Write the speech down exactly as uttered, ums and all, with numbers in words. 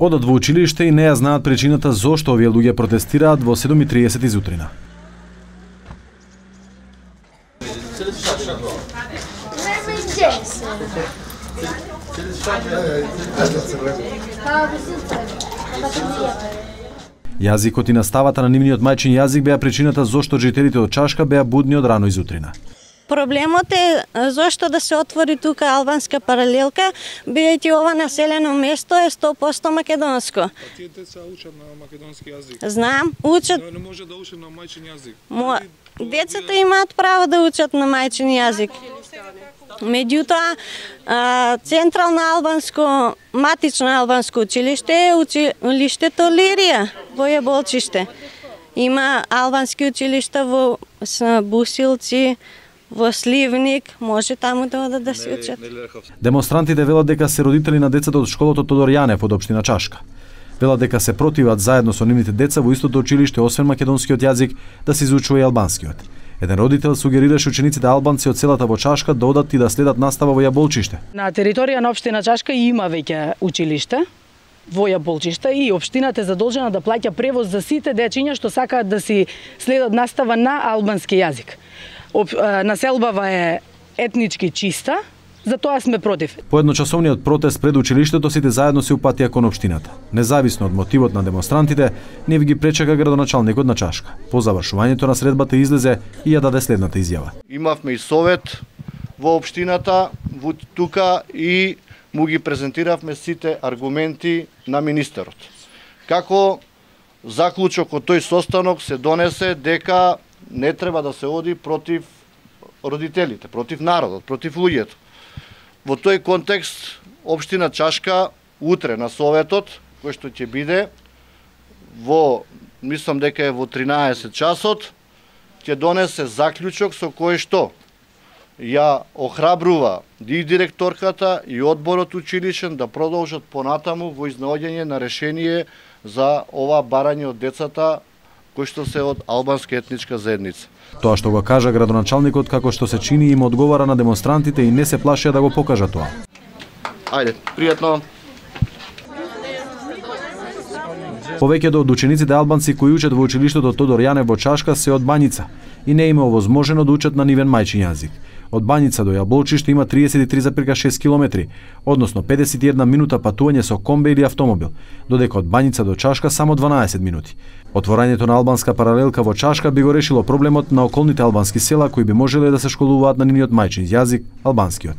Одат во училиште и не ја знаат причината зошто овие луѓе протестираат во седум и триесет изутрина. Јазикот и наставата на нивниот мајчин јазик беа причината зошто жителите од Чашка беа будни од рано изутрина. Проблемот е зошто да се отвори тука албанска паралелка, бидејќи ова населено место е сто проценти македонско. Тие деца учат на македонски јазик. Знам, учат. Не може да учат на мајчин јазик. Мо... Децата имаат право да учат на мајчин јазик. Меѓутоа, Централно албанско, матично албанско училиште е училиштето Лирија во Јаболчиште. Има албански училишта во Бусилци, во Сливник, може таму да одат да се учат. Демонстрантите велат дека се родители на децата од школото Тодор Јанев од општина Чашка. Велат дека се противат заедно со нивните деца во истото училиште, освен македонскиот јазик, да се изучува и албанскиот. Еден родител сугерираше учениците албанци од селата во Чашка да одат и да следат настава во Јаболчиште. На територија на општина Чашка има веќе училиште во Јаболчиште и општината е задолжена да плаќа превоз за сите дечиња што сакаат да си следат настава на албански јазик. Населбава е етнички чиста, затоа сме против. По едночасовниот протест пред училиштето сите заедно се упатија кон општината. Независно од мотивот на демонстрантите, не ви ги пречека градоначалникот на Чашка. По завршувањето на средбата излезе и ја даде следната изјава. Имавме и совет во општината, во тука и му ги презентиравме сите аргументи на министерот. Како заклучок од тој состанок се донесе дека не треба да се оди против родителите, против народот, против луѓето. Во тој контекст, општина Чашка утре на советот, кој што ќе биде во, мислам дека е во тринаесет часот, ќе донесе заклучок со кој што ја охрабрува и директорката и одборот училишен да продолжат понатаму во изнаоѓање на решение за ова барање од децата кои што се од албанска етничка заедница. Тоа што го кажа градоначалникот како што се чини им одговара на демонстрантите и не се плашија да го покажа тоа. Ајде, пријатно. Повеќето од учениците албанци кои учат во училиштето Тодор Јанев во Чашка се од Банјица и не им е овозможено да учат на нивен мајчин јазик. Од Банјица до Јаболчиште има триесет и три зарез шест километри, односно педесет и една минута патување со комбе или автомобил, додека од Банјица до Чашка само дванаесет минути. Отворањето на албанска паралелка во Чашка би го решило проблемот на околните албански села кои би можеле да се школуваат на нивниот мајчин јазик, албанскиот.